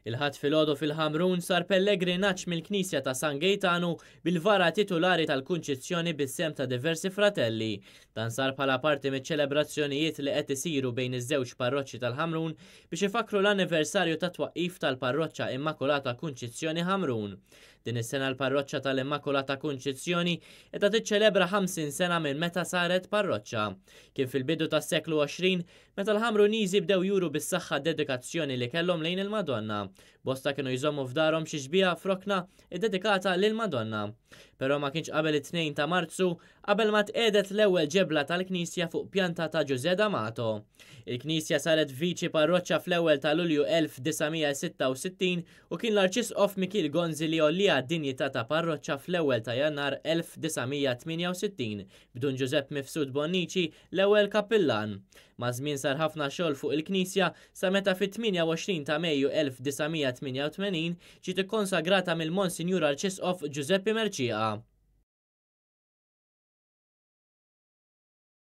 Il-Ħadd filgħodu fil-Ħamrun sar pellegrinaġġ mill-Knisja ta' San Gejtanu bil-vara titulari tal-Kunċizzjoni bis-sehem ta' diversi fratelli. Dan sar bħala parti miċ-ċelebrazzjonijiet li qed isiru bejn iż-żewġ parroċċi tal-Ħamrun biex ifakkru l-anniversarju tat-twaqqif tal-Parroċċa Immakulata Kunċizzjoni Ħamrun. Din is-sena l-Parroċċa tal-Immakulata Kunċizzjoni qiegħda tiċċelebra 50 sena minn meta saret parroċċa. Kien fil-bidu tas-seklu 20 Meta l-Ħamruniżi bdew juru bis-saħħa d-dedikazzjoni li kellhom lejn il-Madonna, bosta kienu jżommu f'darhom xi xbieha f'rokna ddedikata lill-Madonna. Però ma kienx qabel it-Tnejn ta' Marzu qabel ma tqiegħdet l-ewwel ġebla tal-knisja fuq pjanta ta' Ġużè D'Amato. Il-knisja saret viċi parroċċa fl-ewwel ta' Lulju 1966 u kien l-Arċisqof Mikiel Gonzi li għollieha d-dinjità ta' parroċċa fl-ewwel ta' Jannar 1968 b'Dun Ġużepp Mifsud Bonnici l-ewwel kappillan. Maż-żmien sar ħafna xogħol fuq il-knisja sa meta fit-28 ta' Mejju 1988 ġiet ikkonsagrata mill-Monsinjur Arċisqof Ġużeppi Mercieca.